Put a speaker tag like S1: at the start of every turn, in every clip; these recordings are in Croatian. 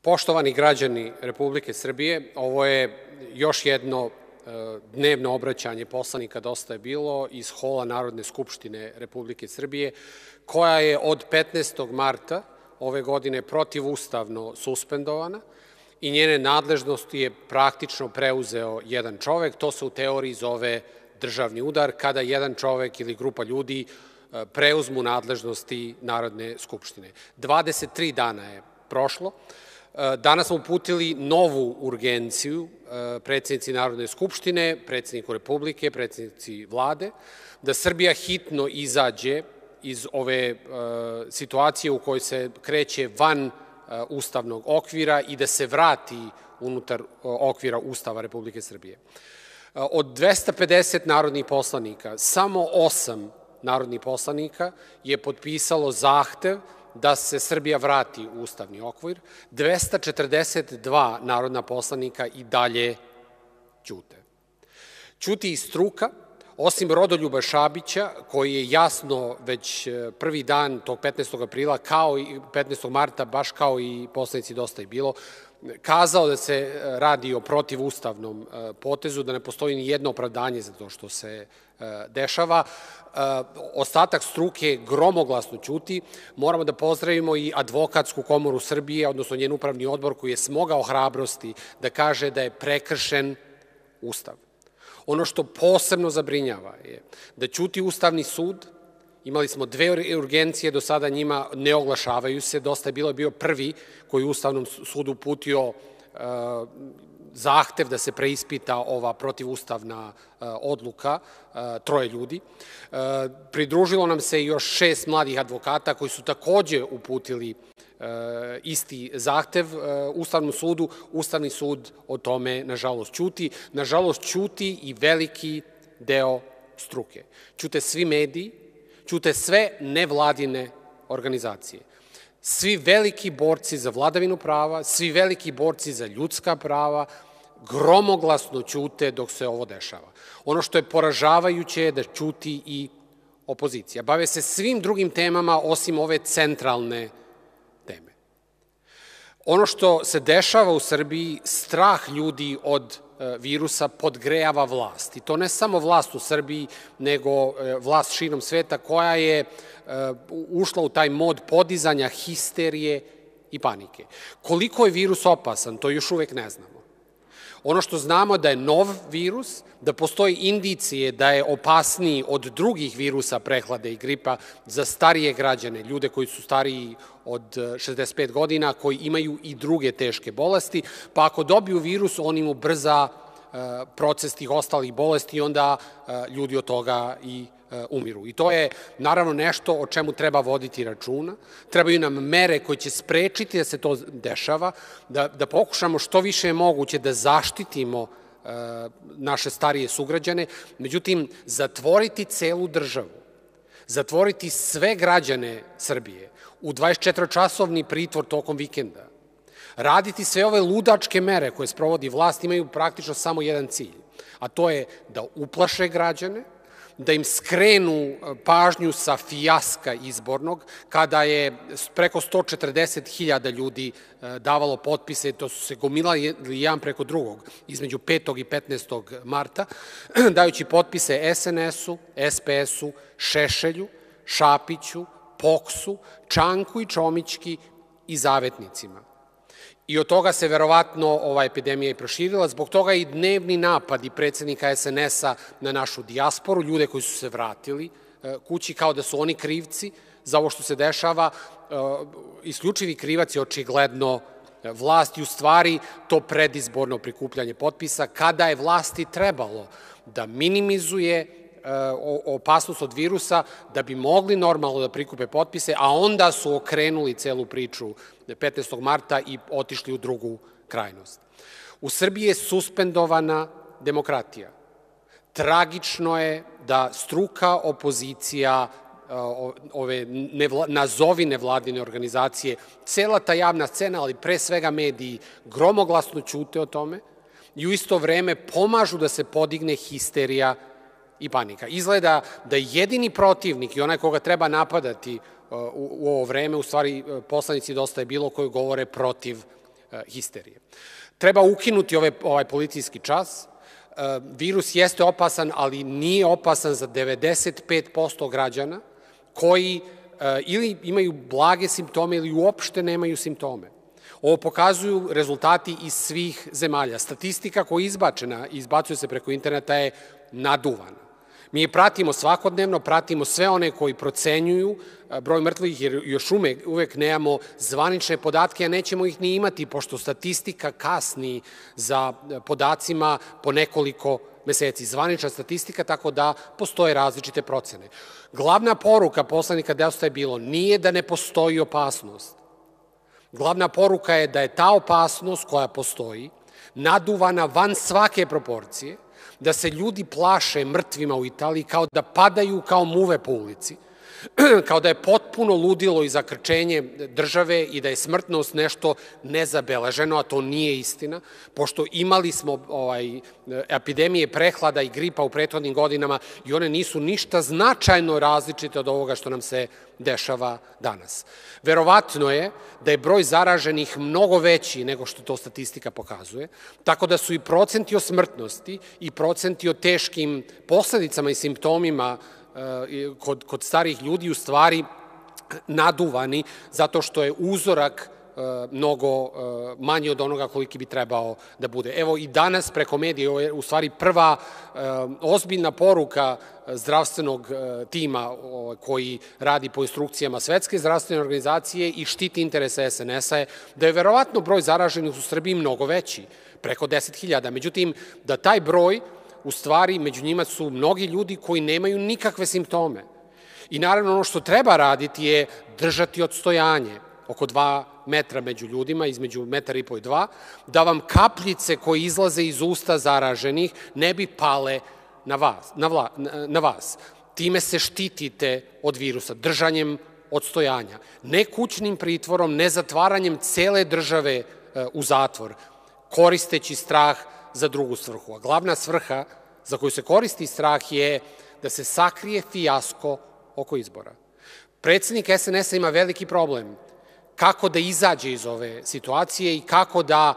S1: Poštovani građani Republike Srbije, ovo je još jedno dnevno obraćanje poslanika Dosta je bilo iz hola Narodne skupštine Republike Srbije, koja je od 15. marta ove godine protivustavno suspendovana i njene nadležnosti je praktično preuzeo jedan čovek. To se u teoriji zove državni udar, kada jedan čovek ili grupa ljudi preuzmu nadležnosti Narodne skupštine. 23 dana je prošlo. Danas smo uputili novu urgenciju predsednici Narodne skupštine, predsedniku Republike, predsednici Vlade, da Srbija hitno izađe iz ove situacije u kojoj se kreće van ustavnog okvira i da se vrati unutar okvira Ustava Republike Srbije. Od 250 narodnih poslanika, samo 8 narodnih poslanika je potpisalo zahtev da se Srbija vrati u ustavni okvir, 242 narodna poslanika i dalje ćute. Ćuti i struka, osim Rodoljuba Šabića, koji je jasno već prvi dan tog 15. aprila, kao i 15. marta, baš kao i poslanici Dosta je bilo, kazao da se radi o protivustavnom potezu, da ne postoji ni jedno opravdanje za to što se dešava. Ostatak struke gromoglasno ćuti. Moramo da pozdravimo i Advokatsku komoru Srbije, odnosno njen upravni odbor koji je smogao hrabrosti da kaže da je prekršen Ustav. Ono što posebno zabrinjava je da ćuti Ustavni sud. Imali smo 2 urgencije, do sada njima ne oglašavaju se. Dosta je bio prvi koji je Ustavnom sudu uputio zahtev da se preispita ova protivustavna odluka 3 ljudi. Pridružilo nam se još 6 mladih advokata koji su takođe uputili isti zahtev Ustavnom sudu. Ustavni sud o tome, nažalost, ćuti. Nažalost, ćuti i veliki deo struke. Ćute svi mediji, ćute sve nevladine organizacije. Svi veliki borci za vladavinu prava, svi veliki borci za ljudska prava, gromoglasno ćute dok se ovo dešava. Ono što je poražavajuće je da ćuti i opozicija. Bave se svim drugim temama osim ove centralne teme. Ono što se dešava u Srbiji, strah ljudi od virusa podgrejava vlast. I to ne samo vlast u Srbiji, nego vlast širom sveta koja je ušla u taj mod podizanja histerije i panike. Koliko je virus opasan, to još uvek ne znamo. Ono što znamo da je nov virus, da postoji indicije da je opasniji od drugih virusa prehlade i gripa za starije građane, ljude koji su stariji od 65 godina, koji imaju i druge teške bolesti, pa ako dobiju virus, on im ubrza proces tih ostalih bolesti i onda ljudi od toga i umiru. I to je naravno nešto o čemu treba voditi računa. Trebaju nam mere koje će sprečiti da se to dešava, da pokušamo što više je moguće da zaštitimo naše starije sugrađane. Međutim, zatvoriti celu državu, zatvoriti sve građane Srbije u 24-časovni pritvor tokom vikenda, raditi sve ove ludačke mere koje sprovodi vlast imaju praktično samo jedan cilj, a to je da uplaše građane, da im skrenu pažnju sa fijaska izbornog, kada je preko 140.000 ljudi davalo potpise, to su se gomilali jedan preko drugog, između 5. i 15. marta, dajući potpise SNS-u, SPS-u, Šešelju, Šapiću, POKS-u, Čanku i Čomićki i Zavetnicima. I od toga se verovatno ova epidemija i proširila, zbog toga i dnevni napadi predsednika SNS-a na našu dijasporu, ljude koji su se vratili kući kao da su oni krivci za ovo što se dešava. Isključivi krivac je očigledno vlast i u stvari to predizborno prikupljanje potpisa, kada je vlasti trebalo da minimizuje opasnost od virusa, da bi mogli normalno da prikupe potpise, a onda su okrenuli celu priču 15. marta i otišli u drugu krajnost. U Srbiji je suspendovana demokratija. Tragično je da struka, opozicija, ove nazovi nevladine organizacije, cela ta javna scena, ali pre svega mediji, gromoglasno ćute o tome i u isto vreme pomažu da se podigne histerija i panika. Izgleda da jedini protivnik i onaj koga treba napadati u ovo vreme, u stvari poslanici Dosta je bilo koji govore protiv histerije. Treba ukinuti ovaj policijski čas. Virus jeste opasan, ali nije opasan za 95% građana koji ili imaju blage simptome ili uopšte nemaju simptome. Ovo pokazuju rezultati iz svih zemalja. Statistika koja je izbačena i izbacuje se preko interneta je naduvana. Mi je pratimo svakodnevno, pratimo sve one koji procenjuju broj mrtvih, jer još uvek nemamo zvanične podatke, a nećemo ih ni imati, pošto statistika kasni za podacima po nekoliko meseci. Zvanična statistika, tako da postoje različite procene. Glavna poruka poslanika Dosta je bilo nije da ne postoji opasnost. Glavna poruka je da je ta opasnost koja postoji naduvana van svake proporcije, da se ljudi plaše mrtvima u Italiji kao da padaju kao muve po ulici, kao da je potpuno ludilo i zakrčenje države i da je smrtnost nešto nezabeleženo, a to nije istina, pošto imali smo epidemije prehlada i gripa u prethodnim godinama i one nisu ništa značajno različite od ovoga što nam se dešava danas. Verovatno je da je broj zaraženih mnogo veći nego što to statistika pokazuje, tako da su i procenti o smrtnosti i procenti o teškim posledicama i simptomima kod starih ljudi u stvari naduvani zato što je uzorak mnogo manji od onoga koliki bi trebao da bude. Evo i danas preko medija je u stvari prva ozbiljna poruka zdravstvenog tima koji radi po instrukcijama Svetske zdravstvene organizacije i štiti interese SNS-a je da je verovatno broj zaraženih u Srbiji mnogo veći, preko 10.000. Međutim, da taj broj u stvari među njima su mnogi ljudi koji nemaju nikakve simptome. I naravno ono što treba raditi je držati odstojanje oko 2 metra među ljudima, između 1,5 metra i 2, da vam kapljice koje izlaze iz usta zaraženih ne bi pale na vas. Time se štitite od virusa, držanjem odstojanja. Ne kućnim pritvorom, ne zatvaranjem cele države u zatvor, koristeći strah za drugu svrhu. A glavna svrha za koju se koristi strah je da se sakrije fijasko oko izbora. Predsednik SNS-a ima veliki problem kako da izađe iz ove situacije i kako da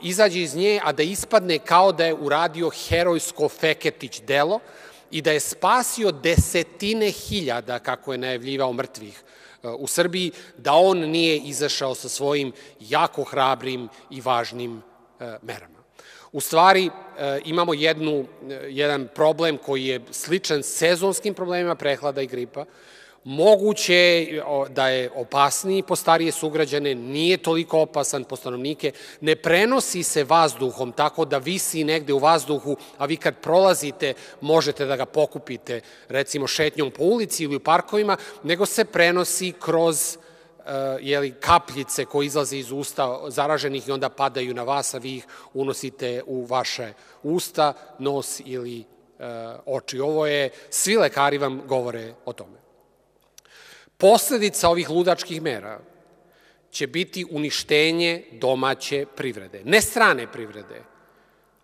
S1: izađe iz nje, a da ispadne kao da je uradio herojsko Feketić delo i da je spasio desetine hiljada, kako je najavljivao, mrtvih u Srbiji, da on nije izašao sa svojim jako hrabrim i važnim merama. U stvari, imamo jedan problem koji je sličan sezonskim problemima prehlada i gripa. Moguće je da je opasniji po starije sugrađane, nije toliko opasan po stanovnike, ne prenosi se vazduhom tako da visi negde u vazduhu, a vi kad prolazite možete da ga pokupite, recimo šetnjom po ulici ili u parkovima, nego se prenosi kroz kapljice koje izlaze iz usta zaraženih i onda padaju na vas, a vi ih unosite u vaše usta, nos ili oči. Svi lekari vam govore o tome. Posledica ovih ludačkih mera će biti uništenje domaće privrede, ne strane privrede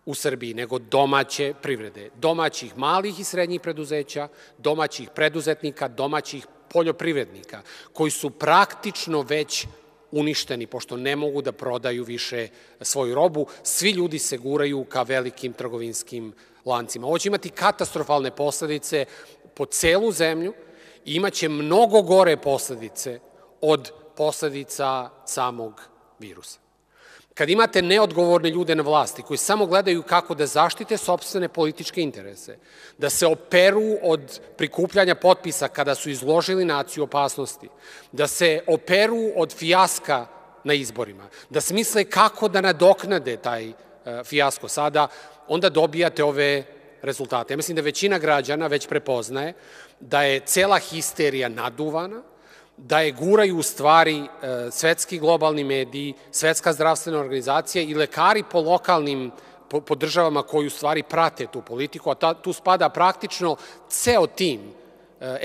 S1: u Srbiji, nego domaće privrede, domaćih malih i srednjih preduzeća, domaćih preduzetnika, domaćih poljoprivrednika, koji su praktično već uništeni, pošto ne mogu da prodaju više svoju robu. Svi ljudi se guraju ka velikim trgovinskim lancima. Ovo će imati katastrofalne posledice po celu zemlju i imaće mnogo gore posledice od posledica samog virusa. Kad imate neodgovorne ljude na vlasti koji samo gledaju kako da zaštite sopstvene političke interese, da se operu od prikupljanja potpisa kada su izložili naciju opasnosti, da se operu od fijaska na izborima, da smisle kako da nadoknade taj fijasko sada, onda dobijate ove rezultate. Ja mislim da većina građana već prepoznaje da je cela histerija naduvana, da je guraju u stvari svetski globalni mediji, Svetska zdravstvena organizacija i lekari po lokalnim državama koji u stvari prate tu politiku, a tu spada praktično ceo tim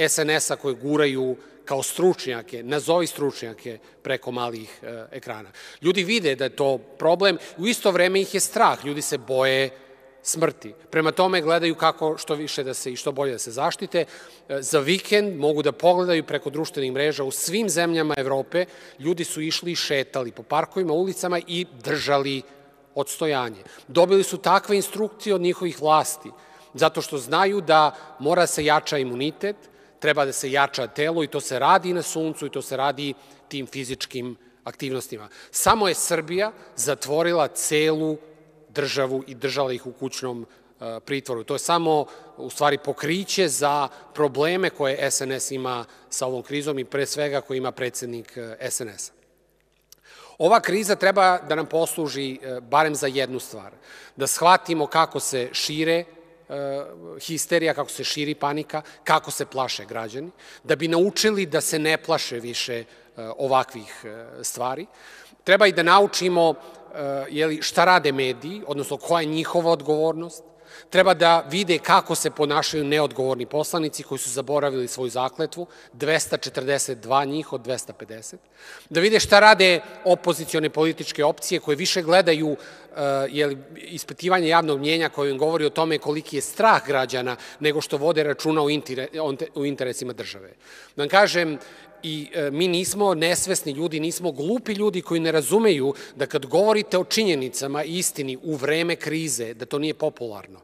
S1: SNS-a koji guraju kao stručnjake, nazovi stručnjake preko malih ekrana. Ljudi vide da je to problem, u isto vreme ih je strah, ljudi se boje smrti. Prema tome gledaju kako što više da se i što bolje da se zaštite. Za vikend mogu da pogledaju preko društvenih mreža u svim zemljama Evrope. Ljudi su išli i šetali po parkovima, ulicama i držali odstojanje. Dobili su takve instrukcije od njihovih vlasti, zato što znaju da mora da se jača imunitet, treba da se jača telo i to se radi na suncu i to se radi tim fizičkim aktivnostima. Samo je Srbija zatvorila celu državu i držala ih u kućnom pritvoru. To je samo, u stvari, pokriće za probleme koje SNS ima sa ovom krizom i pre svega koje ima predsednik SNS-a. Ova kriza treba da nam posluži barem za jednu stvar, da shvatimo kako se šire histerija, kako se širi panika, kako se plaše građani, da bi naučili da se ne plaše više ovakvih stvari. Treba i da naučimo šta rade mediji, odnosno koja je njihova odgovornost. Treba da vide kako se ponašaju neodgovorni poslanici koji su zaboravili svoju zakletvu, 242 njih od 250. Da vide šta rade opozicione političke opcije koje više gledaju ispitivanje javnog mnjenja koje im govori o tome koliki je strah građana nego što vode računa o interesima države. Da vam kažem, i mi nismo nesvesni ljudi, nismo glupi ljudi koji ne razumeju da kad govorite o činjenicama i istini u vreme krize, da to nije popularno,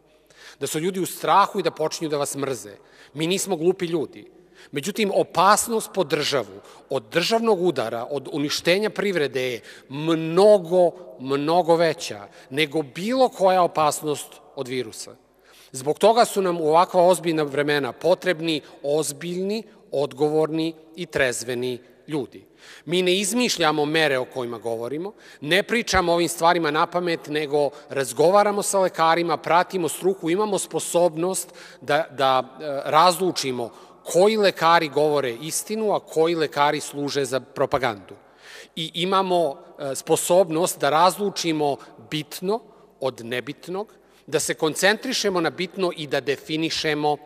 S1: da su ljudi u strahu i da počinju da vas mrze. Mi nismo glupi ljudi. Međutim, opasnost po državu od državnog udara, od uništenja privrede je mnogo, mnogo veća nego bilo koja opasnost od virusa. Zbog toga su nam u ovakva ozbiljna vremena potrebni ozbiljni, odgovorni i trezveni ljudi. Mi ne izmišljamo mere o kojima govorimo, ne pričamo o ovim stvarima napamet, nego razgovaramo sa lekarima, pratimo struku, imamo sposobnost da razlučimo koji lekari govore istinu, a koji lekari služe za propagandu. I imamo sposobnost da razlučimo bitno od nebitnog, da se koncentrišemo na bitno i da definišemo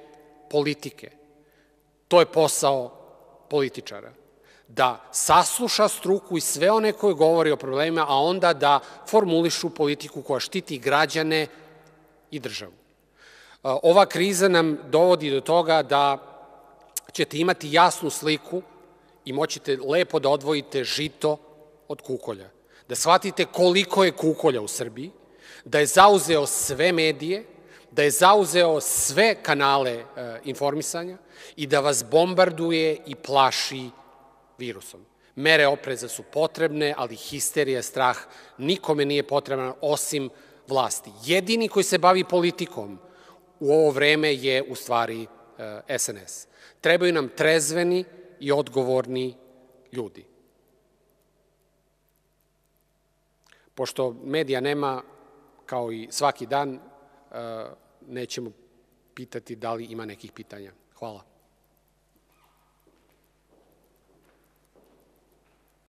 S1: politike. To je posao političara. Da sasluša struku i sve one koje govore o problemima, a onda da formulišu politiku koja štiti građane i državu. Ova kriza nam dovodi do toga da ćete imati jasnu sliku i moćete lepo da odvojite žito od kukolja. Da shvatite koliko je kukolja u Srbiji, da je zauzeo sve medije, da je zauzeo sve kanale informisanja i da vas bombarduje i plaši virusom. Mere opreza su potrebne, ali histerija, strah nikome nije potreban osim vlasti. Jedini koji se bavi politikom u ovo vreme je u stvari SNS. Trebaju nam trezveni i odgovorni ljudi. Pošto medija nema, kao i svaki dan, nećemo pitati da li ima nekih pitanja. Hvala.